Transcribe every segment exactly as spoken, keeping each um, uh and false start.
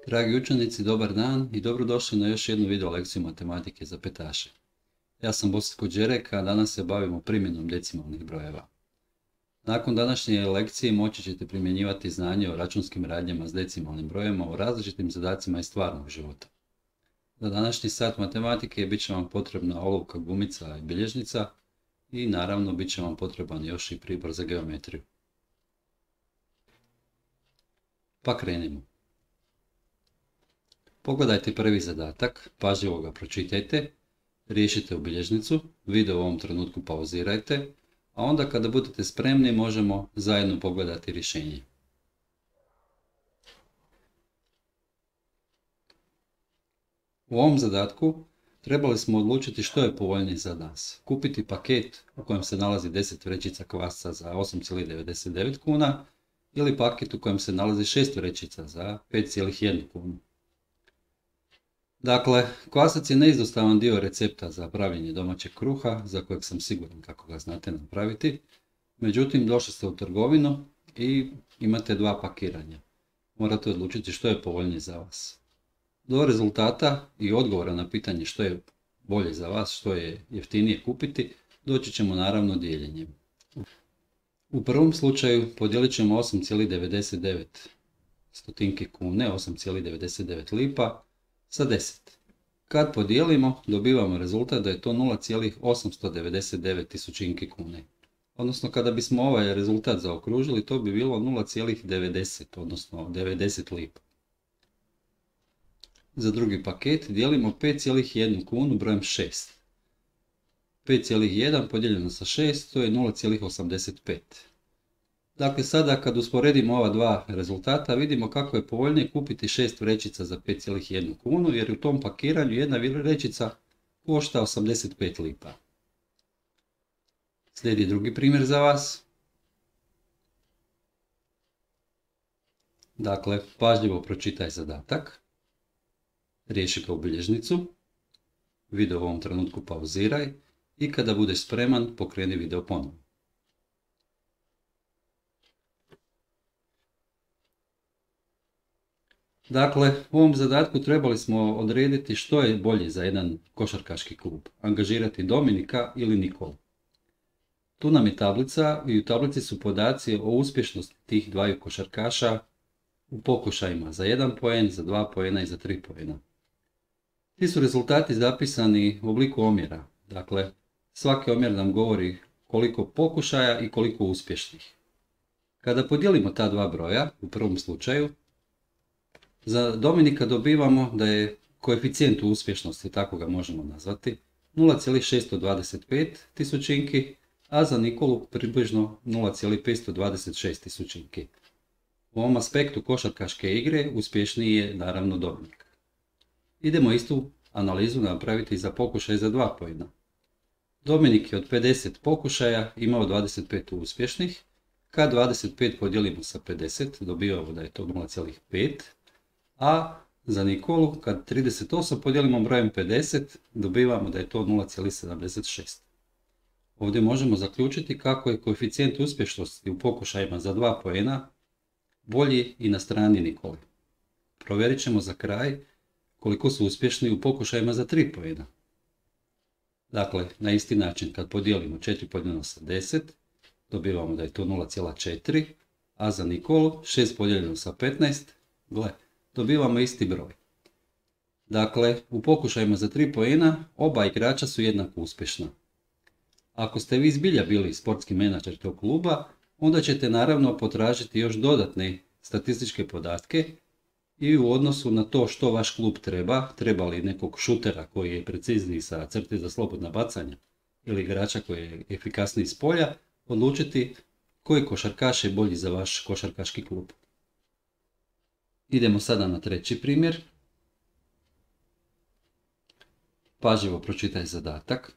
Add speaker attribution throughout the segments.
Speaker 1: Dragi učenici, dobar dan i dobrodošli na još jednu video lekciju matematike za petaše. Ja sam Bositko Đerek, a danas se bavimo primjenom decimalnih brojeva. Nakon današnje lekcije moći ćete primjenjivati znanje o računskim radnjama s decimalnim brojevima u različitim zadacima iz stvarnog života. Za današnji sat matematike bit će vam potrebna olovka, gumica i bilježnica i naravno bit će vam potreban još i pribor za geometriju. Pa krenimo. Pogledajte prvi zadatak, pažljivo ga pročitajte, riješite u bilježnicu, video u ovom trenutku pauzirajte, a onda kada budete spremni možemo zajedno pogledati rješenje. U ovom zadatku trebali smo odlučiti što je povoljnije za nas. Kupiti paket u kojem se nalazi deset vrećica kvasca za osam zarez devedeset devet kuna ili paket u kojem se nalazi šest vrećica za pet zarez jedna kunu. Dakle, kvasac je neizostavan dio recepta za pravljenje domaćeg kruha, za kojeg sam siguran kako ga znate napraviti. Međutim, došli ste u trgovinu i imate dva pakiranja. Morate odlučiti što je povoljnije za vas. Do rezultata i odgovora na pitanje što je bolje za vas, što je jeftinije kupiti, doći ćemo naravno dijeljenjem. U prvom slučaju podijelit ćemo osam zarez devedeset devet stotinki kune, osam zarez devedeset devet lipa, sa deset. Kad podijelimo, dobivamo rezultat da je to nula zarez osamsto devedeset devet tisućinki kune. Odnosno, kada bismo ovaj rezultat zaokružili, to bi bilo nula zarez devedeset, odnosno devedeset lipa. Za drugi paket dijelimo pet zarez jedna kunu brojem šest. pet zarez jedan podijeljeno sa šest, to je nula zarez osamdeset pet. Dakle, sada kad usporedimo ova dva rezultata, vidimo kako je povoljnije kupiti šest vrećica za pet zarez jedna kunu, jer u tom pakiranju jedna vrećica košta osamdeset pet lipa. Slijedi drugi primjer za vas. Dakle, pažljivo pročitaj zadatak, riješi ga u bilježnicu, video u ovom trenutku pauziraj i kada budeš spreman, pokreni video ponovno. Dakle, u ovom zadatku trebali smo odrediti što je bolje za jedan košarkaški klub, angažirati Dominika ili Nikolu. Tu nam je tablica i u tablici su podaci o uspješnosti tih dvaju košarkaša u pokušajima za jedan poen, za dva poena i za tri poena. Ti su rezultati zapisani u obliku omjera, dakle svaki omjer nam govori koliko pokušaja i koliko uspješnih. Kada podijelimo ta dva broja, u prvom slučaju, za Dominika dobivamo da je koeficijent uspješnosti, tako ga možemo nazvati, nula zarez šesto dvadeset pet tisućinki, a za Nikolu približno nula zarez petsto dvadeset šest tisućinki. U ovom aspektu košarkaške igre uspješniji je naravno Dominik. Idemo istu analizu napraviti za pokušaj za dva poena. Dominik je od pedeset pokušaja imao dvadeset pet uspješnih, kad dvadeset pet podijelimo sa pedeset dobivamo da je to nula zarez pet, a za Nikolu kad trideset osam podijelimo brojem pedeset dobivamo da je to nula zarez sedamdeset šest. Ovdje možemo zaključiti kako je koeficijent uspješnosti u pokušajima za dva poena bolji i na strani Nikole. Provjerit ćemo za kraj koliko su uspješni u pokušajima za tri poena. Dakle, na isti način kad podijelimo četiri podijeljeno sa deset dobivamo da je to nula zarez četiri, a za Nikolu šest podijeljeno sa petnaest, gle, dobivamo isti broj. Dakle, u pokušajima za tri poena oba igrača su jednako uspješna. Ako ste vi zbilja bili sportski menadžer tog kluba, onda ćete naravno potražiti još dodatne statističke podatke i u odnosu na to što vaš klub treba, treba li nekog šutera koji je precizniji sa crte za slobodna bacanja ili igrača koji je efikasniji s polja, odlučiti koji košarkaš je bolji za vaš košarkaški klub. Idemo sada na treći primjer. Pažljivo pročitaj zadatak,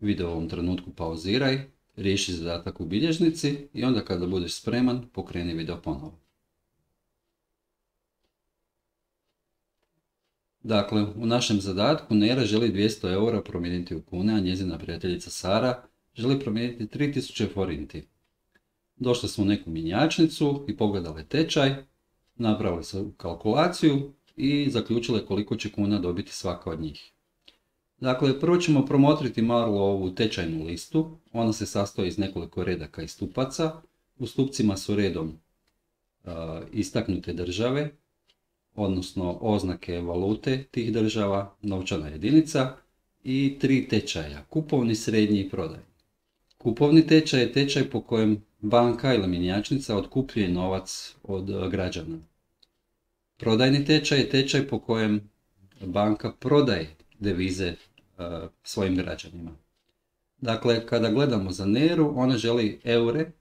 Speaker 1: video u ovom trenutku pauziraj, riješi zadatak u bilježnici i onda kada budeš spreman pokreni video ponovo. Dakle, u našem zadatku Nera želi dvjesto eura promijeniti u kune, a njezina prijateljica Sara želi promijeniti tri tisuće forinti. Došle su u neku mjenjačnicu i pogledale tečaj. napravili su kalkulaciju i zaključile koliko će kuna dobiti svaka od njih. Dakle, prvo ćemo promotriti malo ovu tečajnu listu. Ona se sastoji iz nekoliko redaka i stupaca. U stupcima su redom uh, istaknute države, odnosno oznake valute tih država, novčana jedinica i tri tečaja, kupovni, srednji i prodajni. Kupovni tečaj je tečaj po kojem banka ili mjenjačnica otkupljuje novac od građana. Prodajni tečaj je tečaj po kojem banka prodaje devize uh, svojim građanima. Dakle, kada gledamo za Neru, ona želi eure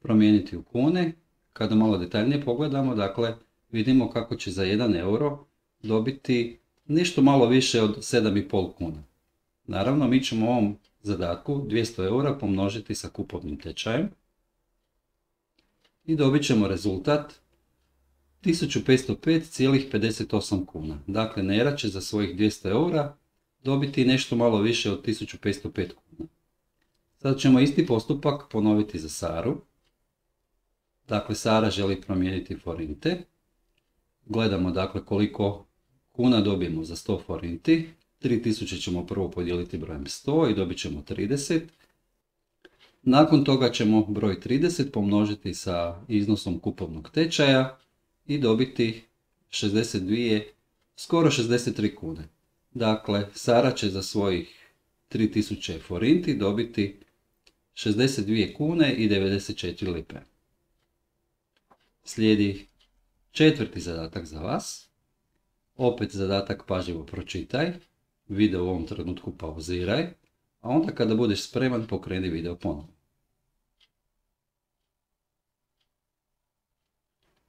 Speaker 1: promijeniti u kune. Kada malo detaljnije pogledamo, dakle, vidimo kako će za jedan euro dobiti nešto malo više od sedam i pol kuna. Naravno, mi ćemo u ovom zadatku dvjesto eura pomnožiti sa kupovnim tečajem i dobit ćemo rezultat tisuću petsto pet zarez pedeset osam kuna. Dakle, Nera će za svojih dvjesto eura dobiti nešto malo više od tisuću petsto pet kuna. Sad ćemo isti postupak ponoviti za Saru. Dakle, Sara želi promijeniti forinte. Gledamo dakle koliko kuna dobijemo za sto forinti. tri tisuće ćemo prvo podijeliti brojem sto i dobit ćemo trideset. Nakon toga ćemo broj trideset pomnožiti sa iznosom kupovnog tečaja i dobiti šezdeset dvije, skoro šezdeset tri kune. Dakle, Sara će za svojih tri tisuće forinti dobiti šezdeset dvije kune i devedeset četiri lipe. Slijedi četvrti zadatak za vas. Opet zadatak pažljivo pročitaj, video u ovom trenutku pauziraj, a onda kada budeš spreman pokreni video ponovno.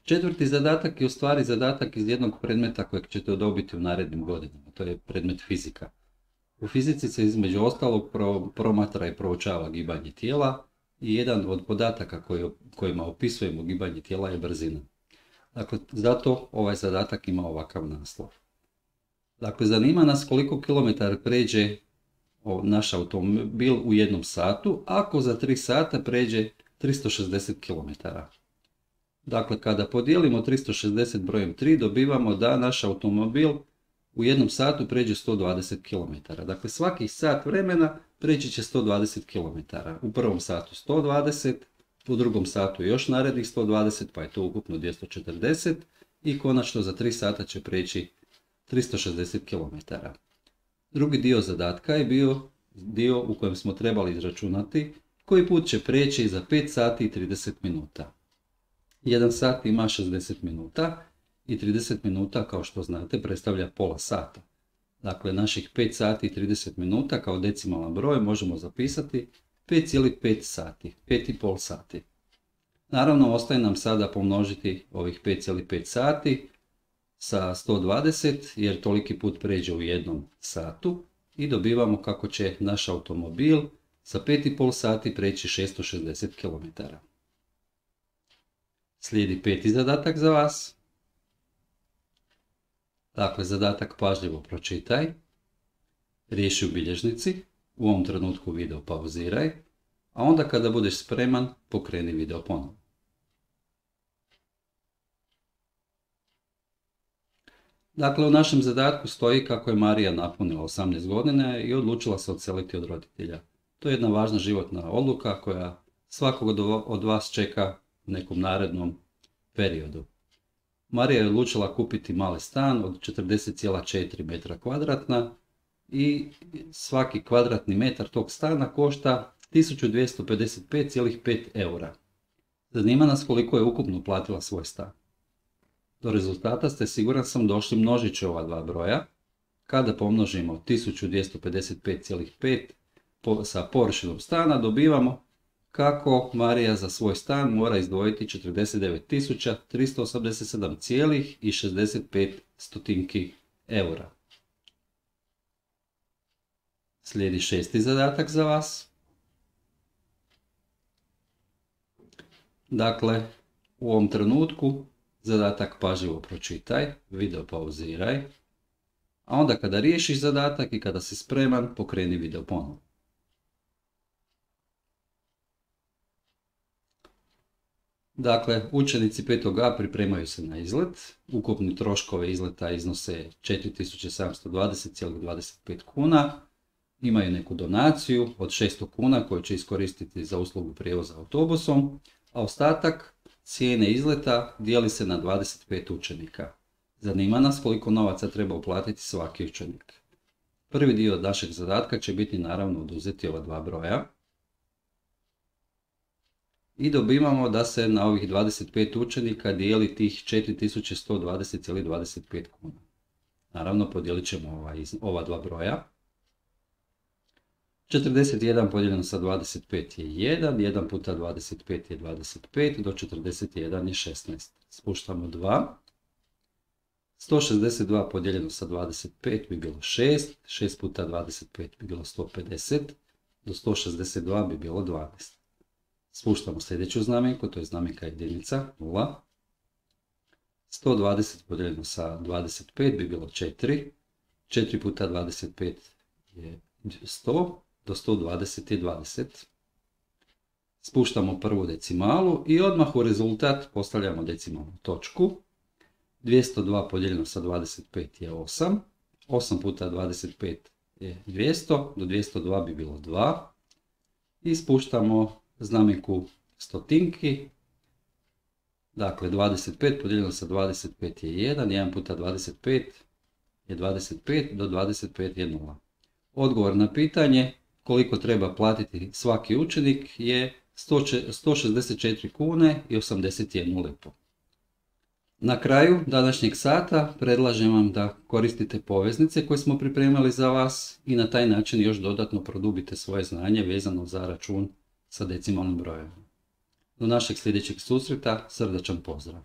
Speaker 1: Četvrti zadatak je u stvari zadatak iz jednog predmeta kojeg ćete dobiti u narednim godinama, to je predmet fizika. U fizici se između ostalog pro, promatra i proučava gibanje tijela i jedan od podataka koji, kojima opisujemo gibanje tijela je brzina. Dakle, zato ovaj zadatak ima ovakav naslov. Dakle, zanima nas koliko kilometara pređe naš automobil u jednom satu, ako za tri sata pređe tristo šezdeset kilometara. Dakle, kada podijelimo tristo šezdeset brojem tri, dobivamo da naš automobil u jednom satu pređe sto dvadeset kilometara. Dakle, svaki sat vremena preći će sto dvadeset kilometara. U prvom satu sto dvadeset, u drugom satu još narednih sto dvadeset, pa je to ukupno dvjesto četrdeset i konačno za tri sata će preći tristo šezdeset kilometara. Drugi dio zadatka je bio dio u kojem smo trebali izračunati koji put će preći za pet sati i trideset minuta. Jedan sat ima šezdeset minuta i trideset minuta, kao što znate, predstavlja pola sata. Dakle, naših pet sati i trideset minuta kao decimalan broj možemo zapisati pet zarez pet sati, pet i pol sati. Naravno, ostaje nam sada pomnožiti ovih pet zarez pet sati sa sto dvadeset, jer toliki put pređe u jednom satu i dobivamo kako će naš automobil sa pet i pol sati preći šesto šezdeset kilometara. Slijedi peti zadatak za vas. Dakle, zadatak pažljivo pročitaj, riješi u bilježnici, u ovom trenutku video pauziraj, a onda kada budeš spreman, pokreni video ponovno. Dakle, u našem zadatku stoji kako je Marija napunila osamnaest godina i odlučila se odseliti od roditelja. To je jedna važna životna odluka koja svakog od vas čeka u nekom narednom periodu. Marija je odlučila kupiti mali stan od četrdeset zarez četiri metra kvadratna i svaki kvadratni metar tog stana košta tisuću dvjesto pedeset pet zarez pet eura. Zanima nas koliko je ukupno platila svoj stan. Do rezultata ste, siguran sam, došli množići ova dva broja. Kada pomnožimo tisuću dvjesto pedeset pet zarez pet sa površinom stana, dobivamo kako Marija za svoj stan mora izdvojiti četrdeset devet tisuća tristo osamdeset sedam zarez šezdeset pet eura. Slijedi šesti zadatak za vas. Dakle, u ovom trenutku zadatak pažljivo pročitaj, video pauziraj, a onda kada riješiš zadatak i kada si spreman, pokreni video ponovno. Dakle, učenici petog A pripremaju se na izlet. Ukupni troškove izleta iznose četiri tisuće sedamsto dvadeset zarez dvadeset pet kuna. Imaju neku donaciju od šesto kuna koju će iskoristiti za uslugu prijevoza autobusom, a ostatak cijene izleta dijeli se na dvadeset pet učenika. Zanima nas koliko novaca treba uplatiti svaki učenik. Prvi dio našeg zadatka će biti naravno oduzeti ova dva broja. I dobivamo da se na ovih dvadeset pet učenika dijeli tih četiri tisuće sto dvadeset zarez dvadeset pet kuna. Naravno podijelit ćemo ova, ova dva broja. četrdeset jedan podijeljeno sa dvadeset pet je jedan, jedan puta dvadeset pet je dvadeset pet, do četrdeset jedan je šesnaest. Spuštamo dva. sto šezdeset dva podijeljeno sa dvadeset pet bi bilo šest, šest puta dvadeset pet bi bilo sto pedeset, do sto šezdeset dva bi bilo dvanaest. Spuštamo sljedeću znamenku, to je znamenka jedinica, nula. sto dvadeset podijeljeno sa dvadeset pet bi bilo četiri, četiri puta dvadeset pet je sto, do sto dvadeset je dvadeset. Spuštamo prvu decimalu i odmah u rezultat postavljamo decimalnu točku. dvjesto dva podijeljeno sa dvadeset pet je osam, osam puta dvadeset pet je dvjesto, do dvjesto dva bi bilo dva. I spuštamo znamenku stotinki. Dakle, dvadeset pet podijeljeno sa dvadeset pet je jedan, jedan puta dvadeset pet je dvadeset pet, do dvadeset pet je nula. Odgovor na pitanje koliko treba platiti svaki učenik je sto šezdeset četiri kune i osamdeset jednu lipu. Na kraju današnjeg sata predlažem vam da koristite poveznice koje smo pripremili za vas i na taj način još dodatno produbite svoje znanje vezano za račun sa decimalnim brojem. Do našeg sljedećeg susreta, srdačan pozdrav!